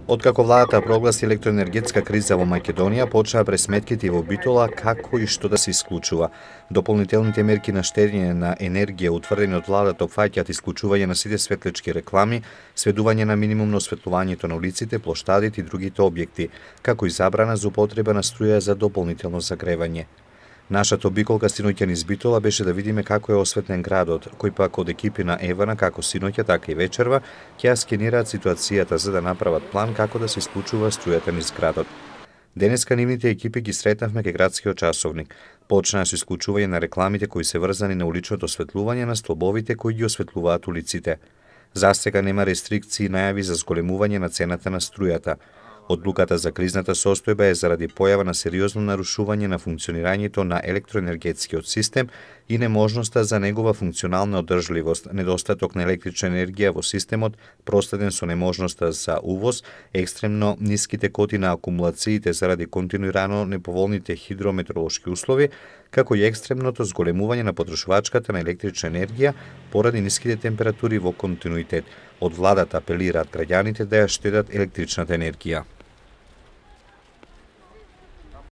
Откако владата прогласи електроенергетска криза во Македонија, почнаа пресметките во Битола како и што да се исклучува. Дополнителните мерки на штедење на енергија утврдени од владата опфаќаат исклучување на сите светлички реклами, сведување на минимум на осветлувањето на улиците, плоштадите и другите објекти, како и забрана за употреба на струја за дополнително загревање. Нашата обиколка синоќа низ Битола беше да видиме како е осветлен градот, кој пак од екипи на Евана како синоќа, така и вечерва ќе скенираат ситуацијата за да направат план како да се исклучува струјата низ градот. Денеска нивните екипи ги сретнавме кај градскиот часовник. Почнаа со исклучување на рекламите кои се врзани на уличното осветлување на столбовите кои ги осветлуваат улиците. Застека нема рестрикции и најави за зголемување на цената на струјата. Одлуката за кризната состојба е заради појава на сериозно нарушување на функционирањето на електроенергетскиот систем и неможноста за негова функционална одржливост, недостаток на електрична енергија во системот, проследен со неможноста за увоз, екстремно ниските коти на акумулациите заради континуирано неповолните хидрометеоролошки услови, како и екстремното зголемување на потрошувачката на електрична енергија поради ниските температури во континуитет. Од владата апелираат граѓаните да ја штедат електричната енергија.